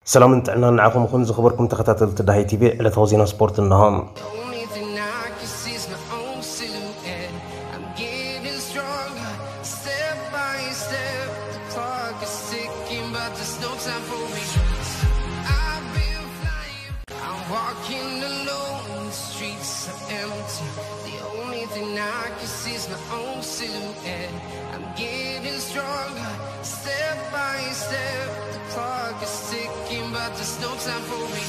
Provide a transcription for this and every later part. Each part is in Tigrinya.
ሰላምን ጥዕናን ንዓኹም ይኹን ዝኸበርኩም ተኸታተልቲ ዳሃይ ቲቪ። ዕለታዊ ዜና ስፖርት እንሆ። The only thing I can see is my own silhouette. I'm getting stronger, step by step. The clock is ticking, but there's no time for me. I've been flying, I'm walking alone, the streets are empty. The only thing I can see is my own silhouette. I'm getting stronger, step by step. The clock is ticking, but there's no time for me.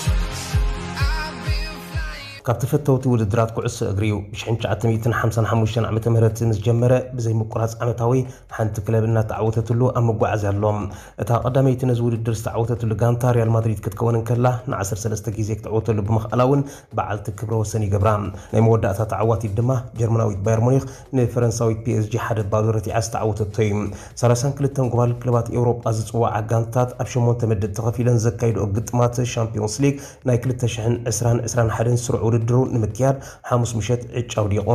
I've been flying. ካብ ተፈተውቲ ውድድራት ኩዕሶ እግሪ እዩ። ብ1955 ዓመተ ምህረት ምስ ጀመረ ብዘይ ምቁራጽ ዓመታዊ ሓንቲ ክለብ እናተዓወተትሉ ኣብ መጓዓዝያ ኣሎ። እታ ቀዳመይቲ ነዚ ውድድር ዝተዓወተትሉ ጋንታ ሪያል ማድሪድ ክትከውን እንከላ፣ ን13 ግዜ ክትዕወተሉ ብምኽኣላ እውን በዓልቲ ክብረ ወሰን ይገብራ። ናይ መወዳእታ ተዓዋቲት ድማ ጀርመናዊት ባየር ሙኒክ ንፈረንሳዊት ፒ ኤስ ጂ ሓደ ባዶ ረቲዓ ዝተዓወተቶ እዩ። 32 ጎባል ክለባት ኤውሮጳ ዝጽውዓ ጋንታት ኣብ ሸሞንተ ምድብ ተኸፊለን ዘካይድኦ ግጥማት ሻምፒዮንስ ሊግ ናይ 2020-21 ስሩዕ ውድድሩ ንምክያድ ሓሙስ ምሸት ዕጫ ኣውዲቑ።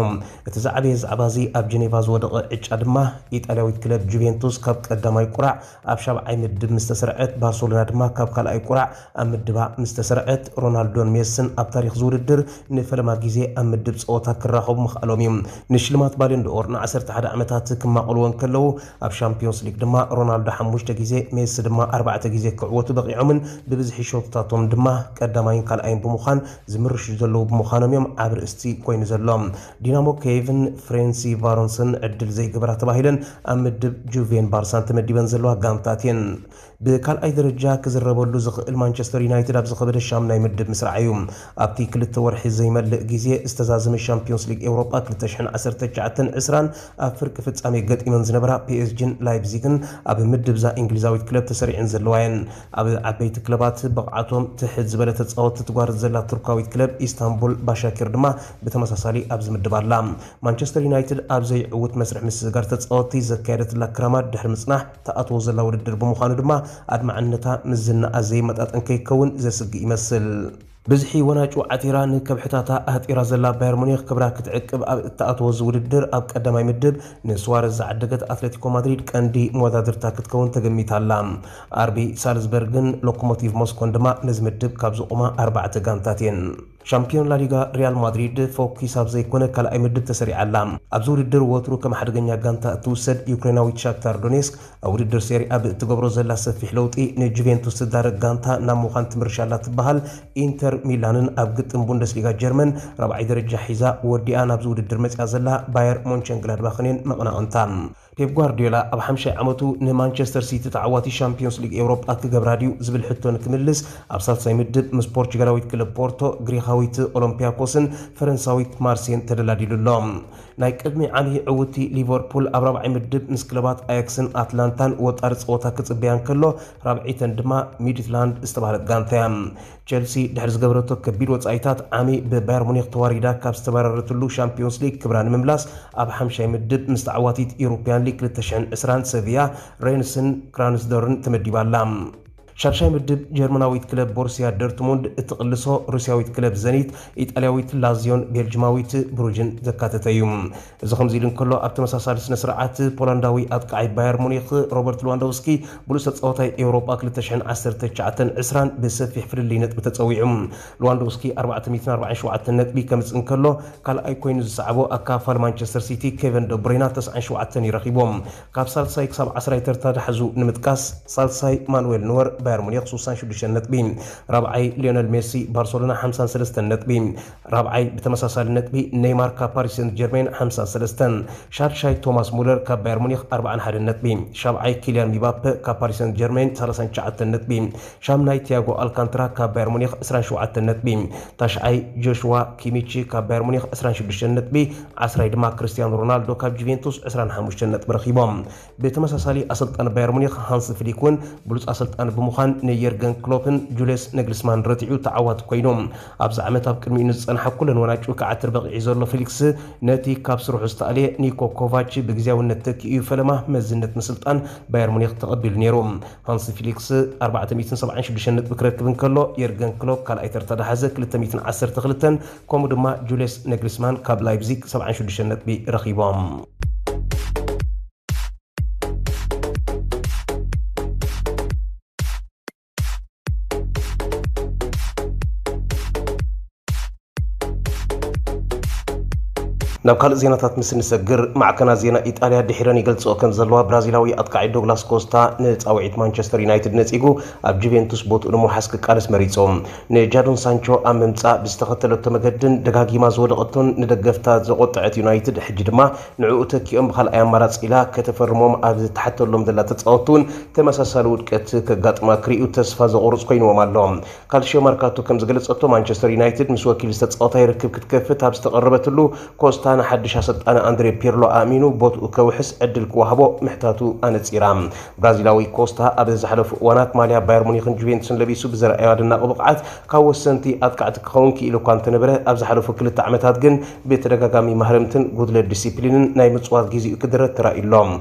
እቲ ዝዓበየ ዛዕባ እዚ ኣብ ጀኔቫ ዝወደቐ ዕጫ ድማ ኢጣልያዊት ክለብ ጁቬንቱስ ካብ ቀዳማይ ቁራዕ ኣብ ሻብዓይ ምድብ ምስ ተሰርዐት፣ ባርሰሎና ድማ ካብ ካልኣይ ቁራዕ ኣብ ምድባ ምስ ተሰርዐት፣ ሮናልዶን ሜስን ኣብ ታሪኽ ዝውድድር ንፈለማ ግዜ ኣብ ምድብ ጸወታ ክራኸቡ ምኽኣሎም እዩ። ንሽልማት ባሎን ዶር ን11 ዓመታት ክማቐልዎ እንከለዉ፣ ኣብ ሻምፒዮንስ ሊግ ድማ ሮናልዶ ሓሙሽተ ግዜ፣ ሜሲ ድማ ኣርባዕተ ግዜ ክዕወቱ በቒዖምን ብብዝሒ ሸቶታቶም ድማ ቀዳማይን ካልኣይን ብምዃን ዝምርሹ ዘለዉ ብምዃኖም እዮም ኣብ ርእስቲ ኮይኑ ዘሎ። ዲናሞ ኬቭን ፍሬንሲ ቫሮንስን ዕድል ዘይገበራ ተባሂለን ኣብ ምድብ ጁቬን ባርሳን ተመዲበን ዘለዋ ጋንታት እየን። ብካልኣይ ደረጃ ክዝረበሉ ዝኽእል ማንቸስተር ዩናይትድ ኣብ ዝኸበደ ሻምናይ ምድብ ምስራዕ እዩ። ኣብቲ ክልተ ወርሒ ዘይመልእ ግዜ ዝተዛዘመ ሻምፒዮንስ ሊግ ኤውሮጳ 2019-20 ኣብ ፍርቂ ፍጻሜ ገጢመን ዝነበራ ፒ ኤስ ጂን ላይፕዚግን ኣብ ምድብዛ እንግሊዛዊት ክለብ ተሰሪዐን ዘለዋ እየን። ኣብ ዓበይቲ ክለባት ብቕዓቶም ትሕት ዝበለ ተጻወትቲ ትጓርት ዘላ ቱርካዊት ክለብ ኢስታንቡል ባሻኪር ድማ ብተመሳሳሊ ኣብዚ ምድብ ኣላ። ማንቸስተር ዩናይትድ ኣብ ዘይዕውት መስርሕ ምስግጋር ተጻወትቲ ዘካየደትላ ክራማት ድሕሪ ምጽናሕ ትኣትዎ ዘላ ውድድር ብምዃኑ ድማ ኣድማዕነታ ምስ ዝናኣ ዘይመጣጠን ከይከውን ዘስግእ ይመስል። ብዝሒ ወናጩ ዓቲራ ንከብሕታታ ኣህጢራ ዘላ ባየር ሙኒክ ክብራ ክትዕቅብ ኣብ እትኣትዎ እዚ ውድድር ኣብ ቀዳማይ ምድብ ንስዋረዝ ዝዓደገት ኣትሌቲኮ ማድሪድ ቀንዲ መወዳድርታ ክትከውን ተገሚታ ኣላ። ኣርቢ ሳልዝበርግን ሎኮሞቲቭ ሞስኮን ድማ ነዚ ምድብ ካብ ዝቖማ ኣርባዕተ ጋንታት እየን። ሻምፒዮን ላሊጋ ሪያል ማድሪድ ፎኪስ ኣብ ዘይኮነ ካልኣይ ምድብ ተሰሪዓ ኣላ። ኣብዚ ውድድር ወትሩ ከም ሓደገኛ ጋንታ እትውሰድ ዩክሬናዊት ሻክታር ዶኔስክ ኣብ ውድድር ሴሪኣ ብእትገብሮ ዘላ ሰፊሕ ለውጢ ንጁቬንቱስ ትዳረግ ጋንታ ናብ ምዃን ትምርሻ ኣላ ትበሃል። ኢንተር ሚላንን ኣብ ግጥም ቡንደስሊጋ ጀርመን ራብዓይ ደረጃ ሒዛ ወዲኣ ናብዚ ውድድር መጽያ ዘላ ባየር ሞንቸንግላድባኽን እየን መቐናቕንታ። ፔፕ ጓርዲዮላ ኣብ ሓምሻይ ዓመቱ ንማንቸስተር ሲቲ ተዓዋቲ ሻምፒዮንስ ሊግ ኤውሮጳ ክገብራ ድዩ ዝብል ሕቶ ንክምልስ ኣብ ሳልሳይ ምድብ ምስ ፖርቹጋላዊት ክለብ ፖርቶ፣ ግሪኻዊት ኦሎምፒያኮስን ፈረንሳዊት ማርሴን ተደላዲሉ ኣሎ። ናይ ቅድሚ ዓሊ ዕውቲ ሊቨርፑል ኣብ ራብዓይ ምድብ ምስ ክለባት ኣያክስን ኣትላንታን ወጣሪ ጸወታ ክጽበያ እንከሎ፣ ራብዒተን ድማ ሚድትላንድ ዝተባህለት ጋንታ እያ። ቸልሲ ድሕሪ ዝገበረቶ ከቢድ ወጻኢታት ዓሚ ብባየር ሙኒክ ተዋሪዳ ካብ ዝተባረረትሉ ሻምፒዮንስ ሊግ ክብራ ንምምላስ ኣብ ሓምሻይ ምድብ ምስ ተዓዋቲት ኢሮፕያን ሊግ 2020 ሰቪያ፣ ሬንስን ክራንስዶርን ተመዲባ ኣላ። ሻድሻይ ምድብ ጀርመናዊት ክለብ ቦሩሲያ ዶርትሙንድ እትቕልሶ፣ ሩስያዊት ክለብ ዘኒት፣ ኢጣልያዊት ላዚዮን ቤልጅማዊት ብሩጅን ዘካተተ እዩ። እዚ ከምዚ ኢሉ እንከሎ፣ ኣብ ተመሳሳሊ ስነ ስርዓት ፖላንዳዊ ኣጥቃዓይ ባየር ሙኒክ ሮበርት ሉዋንዶውስኪ ብሉጽ ተጻዋታይ ኤውሮጳ 2019-20 ብሰፊሕ ፍልልይ ነጥቢ ተጸዊዑ። ሉዋንዶውስኪ 447 ነጥቢ ከምጽእ እንከሎ፣ ካልኣይ ኮይኑ ዝሰዓቦ ኣካፋል ማንቸስተር ሲቲ ኬቨን ደብሩይና 97 እዩ ረኺቦም። ካብ ሳልሳይ ክሳብ ዓስራይ ተርታ ዝሓዙ ንምጥቃስ፣ ሳልሳይ ማኑኤል ኖወር ባየር ሙኒክ 66 ነጥቢ፣ ራብዓይ ሊዮነል ሜሲ ባርሰሎና 53 ነጥቢ፣ ራብዓይ ብተመሳሳሊ ነጥቢ ኔይማር ካብ ፓሪስ ሴንት ጀርሜን 53፣ ሻድሻይ ቶማስ ሙለር ካብ ባየር ሙኒክ 41 ነጥቢ፣ ሻብዓይ ኪልያን ሚባፔ ካብ ፓሪስ ሴንት ጀርሜን 39 ነጥቢ፣ ሻምናይ ቲያጎ ኣልካንትራ ካብ ባየር ሙኒክ 27 ነጥቢ፣ ታሽዓይ ጆሽዋ ኪሚቺ ካብ ባየር ሙኒክ 26 ነጥቢ፣ ዓስራይ ድማ ክርስቲያኖ ሮናልዶ ካብ ጁቬንቱስ 25 ነጥቢ ረኺቦም። ብተመሳሳሊ ኣሰልጣኒ ባየር ሙኒክ ሃንስ ፍሊክ እውን ብሉጽ ኣሰልጣኒ ብምዃን ንየርገን ክሎፕን ጁልየስ ነግልስማን ረቲዑ ተዓዋቲ ኮይኑ። ኣብዚ ዓመት ኣብ ቅድሚኡ ንዝጸንሓ ኩለን ወናጩ ክዓትር በቒዑ ዘሎ ፊሊክስ፣ ነቲ ካብ ስርሑ ዝተኣልየ ኒኮ ኮቫች ብግዜያውነት ተኪኡ ፈለማ መዝነት ምስልጣን ባየር ሙኒክ ተቐቢሉ ነይሩ። ሃንስ ፊሊክስ 476 ነጥቢ ክረክብ እንከሎ፣ የርገን ክሎፕ ካልኣይ ተርታ ዝሓዘ 212፣ ከምኡ ድማ ጁልየስ ነግልስማን ካብ ላይፕዚግ 76 ነጥቢ ረኺቦም። ናብ ካልእ ዜናታት ምስ ንሰግር፣ ማዕከናት ዜና ኢጣልያ ድሒረን ይገልጽኦ ከም ዘለዋ፣ ብራዚላዊ ኣጥቃዒ ዶግላስ ኮስታ ንጻውዒት ማንቸስተር ዩናይትድ ነጺጉ ኣብ ጁቬንቱስ ቦትኡ ንምውሓስ ክቃለስ መሪጹ። ንጃዶን ሳንቾ ኣብ ምምጻእ ብዝተኸተለቶ መገድን ደጋጊማ ዝወደቐቶን ንደገፍታ ዘቖጠዐት ዩናይትድ፣ ሕጂ ድማ ንዕኡ ተኪኦም ብኻልኣይ ኣማራጺ ኢላ ከተፈርሞም ኣብ ዝተሓተሎም ዘላ ተጻወትቲ እውን ተመሳሳሊ ውድቀት ከጋጥማ ክርእዩ ተስፋ ዘቑርጽ ኮይንዎም ኣሎ። ካልሽዮ መርካቶ ከም ዝገለጸቶ፣ ማንቸስተር ዩናይትድ ምስ ወኪል ዝተጻወታይ ርክብ ክትከፍት ኣብ ዝተቐረበትሉ፣ ኮስታ ንሓድሽ ኣሰልጣኒ ኣንድሬ ፒርሎ ኣእሚኑ ቦትኡ ከውሕስ ዕድል ክወሃቦ ምሕታቱ ኣነጺራ። ብራዚላዊ ኮስታ ኣብ ዝሓለፉ እዋናት ማልያ ባየር ሙኒክን ጁቬንቱስን ለቢሱ ብዘርኣዮ ኣደናቂ ብቕዓት ካብ ወሰንቲ ኣጥቃዕቲ ክኸውን ክኢሉ እኳ እንተነበረ፣ ኣብ ዝሓለፉ ክልተ ዓመታት ግን ብተደጋጋሚ ማህረምትን ጉድለት ዲሲፕሊንን ናይ ምጽዋት ግዜኡ ክድረት ተራእዩ ኣሎ።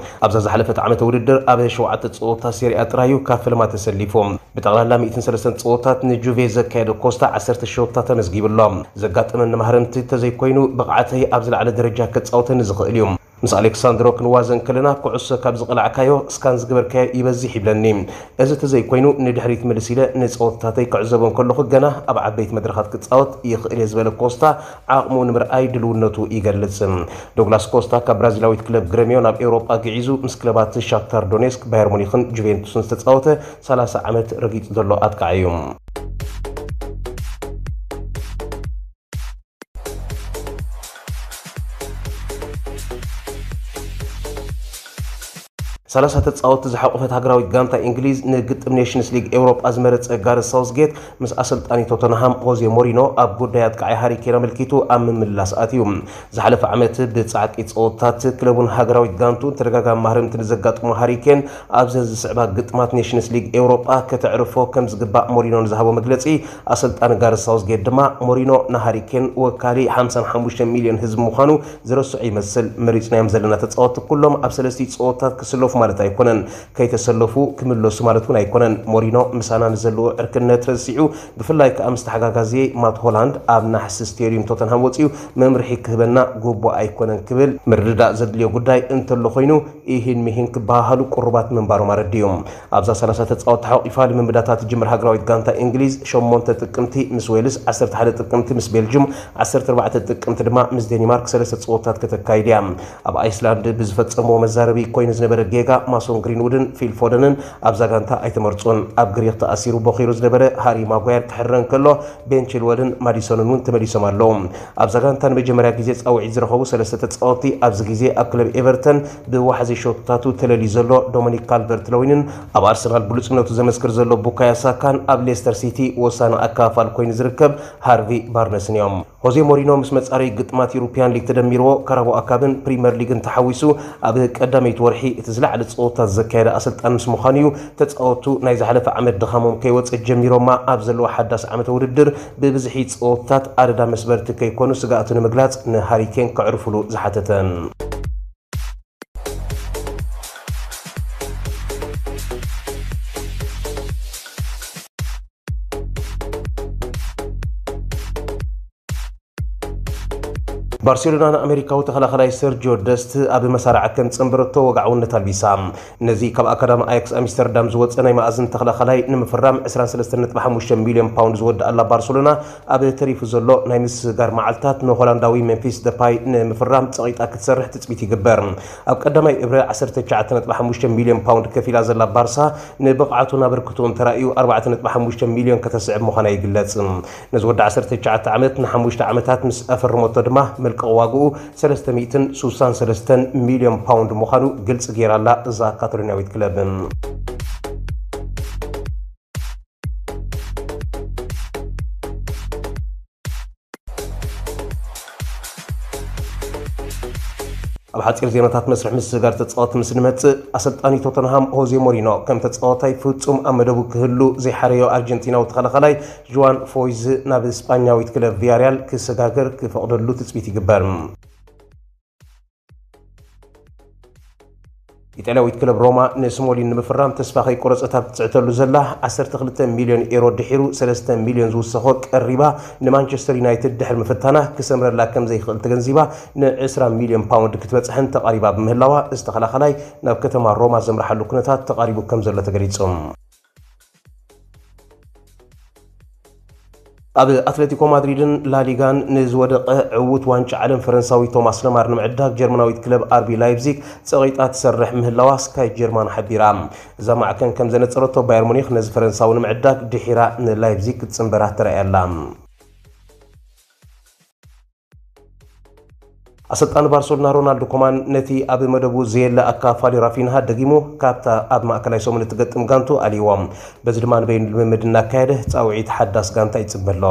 ኣብዛ ዝሓለፈት ዓመተ ውድድር ኣብ ሸውዓተ ጸወታ ሴሪኣ ጥራዩ ካብ ፈለማ ተሰሊፉ። ብጠቕላላ ሚእትን ሰለስተን ጸወታት ንጁቬ ዘካየደ ኮስታ ዓሰርተ ሸቶታት ተመዝጊቡ ኣሎ። ዘጋጠመኒ ማህረምቲ ተዘይኮይኑ፣ ብቕዓተይ ኣብ ዝለዓለ ደረጃ ከጻውተኒ ዝኽእል እዩ። ምስ ኣሌክሳንድሮ ክንዋዘ እንከለና፣ ኩዕሶ ካብ ዝቐላዕካዮ፣ ስካን ዝገበርካዮ ይበዝሕ ይብለኒ። እዚ ተዘይኮይኑ፣ ንድሕሪት ምልስ ኢለ ንጸወታተይ ክዕዘቦ እንከለኹ፣ ገና ኣብ ዓበይቲ መድረኻት ክጻወት ይኽእል እየ ዝበለ ኮስታ፣ ዓቕሙ ንምርኣይ ድልውነቱ ይገልጽ። ዶግላስ ኮስታ ካብ ብራዚላዊት ክለብ ግረሚዮ ናብ ኤውሮጳ ግዒዙ፣ ምስ ክለባት ሻክታር ዶኔስክ፣ ባየር ሙኒክን ጁቬንቱስን ዝተጻወተ፣ ሰላሳ ዓመት ረጊጹ ዘሎ ኣጥቃዒ እዩ። ሰላሳ ተጻወትቲ ዝሓቆፈት ሃገራዊት ጋንታ እንግሊዝ ንግጥም ኔሽንስ ሊግ ኤውሮጳ ዝመረጸ ጋረዝ ሳውዝጌት፣ ምስ ኣሰልጣኒ ቶተንሃም ሆዜ ሞሪኖ ኣብ ጉዳይ ኣጥቃዓይ ሃሪ ኬን ኣመልኪቱ ኣብ ምምልላስ ኣትዩ። ዝሓለፈ ዓመት ብጻዕቂ ጸወታት ክለቡን ሃገራዊት ጋንቱን ተደጋጋሚ ማህረምቲ ንዘጋጥሞ ሃሪ ኬን፣ ኣብዘን ዝስዕባ ግጥማት ኔሽንስ ሊግ ኤውሮጳ ከተዕርፎ ከም ዝግባእ ሞሪኖ ንዝሃቦ መግለጺ፣ ኣሰልጣኒ ጋረዝ ሳውዝጌት ድማ፣ ሞሪኖ ንሃሪ ኬን ወካሊ ሓምሳን ሓሙሽተ ሚልዮን ህዝቢ ምዃኑ ዝረስዖ ይመስል። መሪጽናዮም ዘለና ተጻወትቲ ኩሎም ኣብ ሰለስቲኡ ጸወታት ክስለፉ ማለት ኣይኮነን። ከይተሰለፉ ክምለሱ ማለት እውን ኣይኮነን። ሞሪኖ ምሳና ንዘለዎ ዕርክነት ረሲዑ፣ ብፍላይ ከኣ ምስ ተሓጋጋዚ ማት ሆላንድ ኣብ ናሕሲ ስቴድዩም ቶተንሃም ወጺኡ መምርሒ ክህበና ግቡእ ኣይኮነን ክብል ምርድዳእ ዘድልዮ ጉዳይ እንተሎ ኮይኑ፣ ኢሂን ሚሂን ክበሃሃሉ ቅሩባት ምንባሮም ኣረዲኡ። ኣብዛ ሰላሳ ተጻወትቲ ሓቂፋ ልምምዳታ ትጅምር ሃገራዊት ጋንታ እንግሊዝ፣ ሸሞንተ ጥቅምቲ ምስ ዌልስ፣ ዓሰርተ ሓደ ጥቅምቲ ምስ ቤልጅም፣ ዓሰርተ ኣርባዕተ ጥቅምቲ ድማ ምስ ዴኒማርክ ሰለስተ ጸወታት ከተካይድ እያ። ኣብ ኣይስላንድ ብዝፈጸምዎ መዛረቢ ኮይኑ ዝነበረ ጌጋ፣ ማሶን ግሪንውድን ፊል ፎደንን ኣብዛ ጋንታ ኣይተመርጹን። ኣብ ግሪኽ ተኣሲሩ ቦኺሩ ዝነበረ ሃሪ ማጓየር ክሕረ እንከሎ፣ ቤን ቺልወልን ማዲሶንን እውን ተመሊሶም ኣለዉ። ኣብዛ ጋንታ ንመጀመርያ ግዜ ጻውዒት ዝረኸቡ ሰለስተ ተጻወትቲ፣ ኣብዚ ግዜ ኣብ ክለብ ኤቨርተን ብዋሕዚ ሸቶታቱ ተለልዩ ዘሎ ዶሚኒክ ካልቨርት ለዊንን፣ ኣብ ኣርሰናል ብሉጽነቱ ዘመስክር ዘሎ ቡካዮ ሳካን፣ ኣብ ሌስተር ሲቲ ወሳኒ ኣከፋፋል ኮይኑ ዝርከብ ሃርቪ ባርነስን እዮም። ሆዜ ሞሪኖ ምስ መጻረዪ ግጥማት ዩሮፒያን ሊግ ተደሚርዎ፣ ካራባኦ ካፕን ፕሪመር ሊግን ተሓዊሱ፣ ኣብ ቀዳመይቲ ወርሒ እቲ ዝለዓለ ጸወታት ዘካየደ ኣሰልጣን ምስ ምዃኑ እዩ። ተጻወቱ ናይ ዝሓለፈ ዓመት ድኻሞም ከይወጸ ጀሚሮማ ኣብ ዘለዎ ሓዳስ ዓመተ ውድድር ብብዝሒ ጸወታት ኣደዳ መስበርቲ ከይኮኑ ስግኣቱ ንምግላጽ ንሃሪ ኬን ከዕርፉሉ ዝሓተተ። ባርሴሎና ንኣሜሪካዊ ተኸላኸላይ ሰርጂዮ ደስት ኣብ መሳርዓ ከም ጸንበረቶ ወግዓውነት ኣልቢሳ። ነዚ ካብ ኣካዳሚ ኣያክስ ኣምስተርዳም ዝወጸ ናይ መኣዝን ተኸላኸላይ ንምፍራም ዕስራን ሰለስተን ነጥቢ ሓሙሽተ ሚልዮን ፓውንድ ዝወድኣላ ባርሴሎና፣ ኣብ ተሪፉ ዘሎ ናይ ምስጋር መዓልታት ንሆላንዳዊ ሜምፊስ ደፓይ ንምፍራም ጸቒጣ ክትሰርሕ ትጽቢት ይግበር። ኣብ ቀዳማይ እብረ ዓሰርተ ትሽዓተ ነጥቢ ሓሙሽተ ሚልዮን ፓውንድ ከፊላ ዘላ ባርሳ፣ ንብቕዓቱን ኣበርክቶኡን ተራእዩ ኣርባዕተ ነጥቢ ሓሙሽተ ሚልዮን ከተስዕብ ምዃና ይግለጽ። ነዚ ወዲ ዓሰርተ ትሽዓተ ዓመት ንሓሙሽተ ዓመታት ምስ ኣፈረመቶ ድማ፣ መልቀቕ ዋግኡ ሰለስተ ሚእትን ስሳን ሰለስተን ሚልዮን ፓውንድ ምዃኑ ግልጺ ገይራ'ላ እዛ ካታሎንያዊት ክለብ። ኣብ ሓጺር ዜናታት መስርሕ ምስግጋር ተጻወትቲ ምስ ንመጽእ፣ ኣሰልጣኒ ቶተንሃም ሆዜ ሞሪኖ፣ ከም ተጻዋታይ ፍጹም ኣብ መደቡ ክህሉ ዘይሓረዮ ኣርጀንቲናዊ ተኸላኻላይ ዥዋን ፎይዝ ናብ ስጳኛዊት ክለብ ቪያሪያል ክሰጋገር ክፈቕደሉ ትጽቢት ይግበር። ኢጣልያዊት ክለብ ሮማ ንስሞሊን ንምፍራም ተስፋ ከይቆረጸት ኣብ ትጽዕተሉ ዘላ፣ ዓሰርተ ክልተ ሚልዮን ኤሮ ድሒሩ ሰለስተ ሚልዮን ዝውሰኾ ቀሪባ ንማንቸስተር ዩናይትድ ድሕሪ ምፍታና፣ ክሰምረላ ከም ዘይክእል ተገንዚባ፣ ንዕስራ ሚልዮን ፓውንድ ክትበጽሕን ተቓሪባ ብምህላዋ፣ እዚ ተኸላኻላይ ናብ ከተማ ሮማ ዘምርሓሉ ኩነታት ተቓሪቡ ከም ዘሎ ተገሊጹ። ኣብ ኣትሌቲኮ ማድሪድን ላሊጋን ንዝወደቐ ዕዉት ዋንጫ ዓለም ፈረንሳዊ ቶማስ ለማር ንምዕዳግ ጀርመናዊት ክለብ ኣርቢ ላይፕዚግ ጸቒጣ ትሰርሕ ምህላዋ ስካይ ጀርማን ሓቢራ። እዛ ማዕከን ከም ዘነጸረቶ፣ ባየር ሙኒክ ነዚ ፈረንሳዊ ንምዕዳግ ድሒራ ንላይፕዚግ ክትጽንበራ ተራእያ ኣላ። ኣሰልጣኒ ባርሰሎና ሮናልዶ ኮማን ነቲ ኣብ መደቡ ዘየለ ኣካፋሊ ራፊንሃ ደጊሙ ካብታ ኣብ ማእከላይ ሰሙን እትገጥም ጋንቱ ኣልይዎ። በዚ ድማ ንበይኑ ልምምድ እናካየደ ጻውዒት ሓዳስ ጋንታ ይጽበ ኣሎ።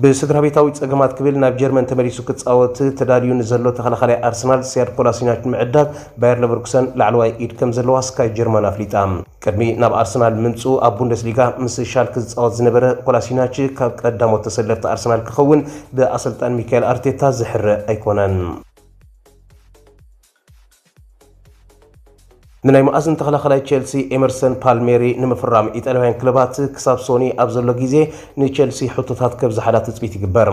ብስድራ ቤታዊ ጸገማት ክብል ናብ ጀርመን ተመሊሱ ክጻወት ተዳልዩ ንዘሎ ተኸላኻላይ ኣርሰናል ሲያድ ኮላሲናች ንምዕዳግ ባየር ለቨርኩሰን ላዕለዋይ ኢድ ከም ዘለዋ ስካይ ጀርመን ኣፍሊጣ። ቅድሚ ናብ ኣርሰናል ምምጽኡ ኣብ ቡንደስሊጋ ምስ ሻልክ ዝጻወት ዝነበረ ኮላሲናች ካብ ቀዳሞት ተሰለፍቲ ኣርሰናል ክኸውን ብኣሰልጣን ሚካኤል ኣርቴታ ዝሕረ ኣይኮነን። ንናይ መኣዝን ተኸላኻላይ ቸልሲ ኤመርሰን ፓልሜሪ ንምፍራም ኢጣልያውያን ክለባት ክሳብ ሶኒ ኣብ ዘሎ ግዜ ንቸልሲ ሕቶታት ከብዝሓላ ትጽቢት ይግበር።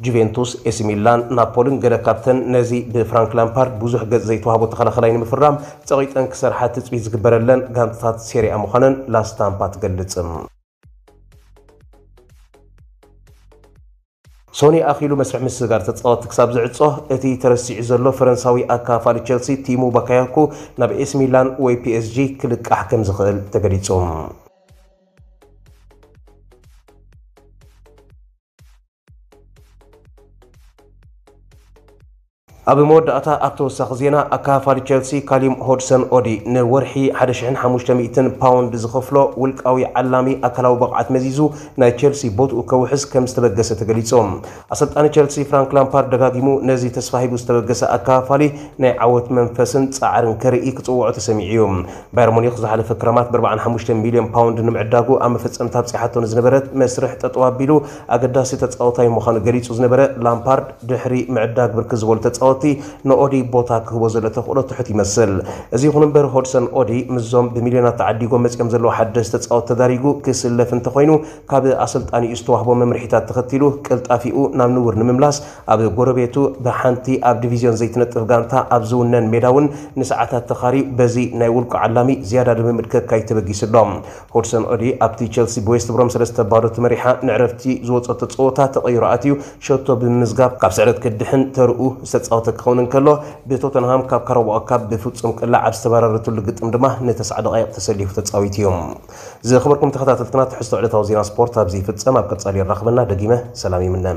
ጁቬንቱስ፣ ኤሲ ሚላን፣ ናፖልን ገለ ካብተን ነዚ ብፍራንክ ላምፓርድ ብዙሕ ገጽ ዘይተዋህቦ ተኸላኻላይ ንምፍራም ጸቒጠን ክሰርሓ ትጽቢት ዝግበረለን ጋንታታት ሴሪኣ ምዃነን ላስታምፓ ትገልጽ። ሶኒ ኣኺሉ መስርሕ ምስግጋር ተጻወትቲ ክሳብ ዝዕጾ፣ እቲ ተረሲዑ ዘሎ ፈረንሳዊ ኣካፋሊ ቸልሲ ቲሙ ባካያኮ ናብ ኤሲ ሚላን ወይ ፒኤስጂ ክልቃሕ ከም ዝኽእል ተገሊጹ። ኣብ መወዳእታ ኣብ ተወሳኺ ዜና፣ ኣካፋሊ ቸልሲ ካሊም ሆድሰን ኦዲ ንወርሒ ሓደ ሽሕን ሓሙሽተ ሚእትን ፓውንድ ዝኸፍሎ ውልቃዊ ዓላሚ ኣካላዊ ብቕዓት መዚዙ ናይ ቸልሲ ቦትኡ ከውሕስ ከም ዝተበገሰ ተገሊጹ። ኣሰልጣኒ ቸልሲ ፍራንክ ላምፓርድ ደጋጊሙ ነዚ ተስፋ ሂቡ ዝተበገሰ ኣካፋሊ ናይ ዓወት መንፈስን ጻዕርን ከርኢ ክጽውዖ ተሰሚዑ እዩ። ባየር ሙኒክ ዝሓለፈ ክረማት ብ45 ሚልዮን ፓውንድ ንምዕዳጉ ኣብ መፈጸምታ ኣብጺሓቶ ንዝነበረት መስርሕ ጠጠው ኣቢሉ ኣገዳሲ ተጻወታይ ምዃኑ ገሊጹ ዝነበረ ላምፓርድ ድሕሪ ምዕዳግ ብርክት ዝበሉ ተጻወትቲ ንኦዲ ቦታ ክህቦ ዘሎ ተኽእሎ ትሑት ይመስል። እዚ ይኹን እምበር ሆድሰን ኦዲ ምስዞም ብሚልዮናት ተዓዲጎም መጺኦም ዘለዉ ሓደስቲ ተጻወትቲ ተዳሪጉ ክስለፍ እንተኾይኑ ካብ ኣሰልጣኒኡ ዝተዋህቦ መምርሒታት ተኸቲሉ ቅልጣፊኡ ናብ ንቡር ንምምላስ ኣብ ጎረቤቱ ብሓንቲ ኣብ ዲቪዝዮን ዘይትነጥፍ ጋንታ ኣብ ዝውነን ሜዳ እውን ንሰዓታት ተኻርዩ በዚ ናይ ውልቁ ዓላሚ ዝያዳ ልምምድ ከካይድ ተበጊሱ ኣሎ። ሆድሰን ኦዲ ኣብቲ ቸልሲ ብዌስት ብሮም ሰለስተ ባዶ ተመሪሓ ንዕረፍቲ ዝወጸቶ ጸወታ ተቐይሩ ኣትዩ ሸቶ ብምምዝጋብ ካብ ስዕረት ክድሕን ተርኡ ዝተጻወተ ክኸውን እንከሎ ብቶተንሃም ካብ ካራባኦ ካፕ ብፍጹም ቅላዕ ኣብ ዝተበራረትሉ ግጥም ድማ ንተስዓ ደቓይቕ ተሰሊፉ ተጻዊቱ እዩ። ዝኸበርኩም ተኸታተልትና ትሕዝቶ ዕለታዊ ዜና ስፖርት ኣብዚ ይፍጸም። ኣብ ቀጻሊ የራኽበና። ደጊመ ሰላም ይምነ።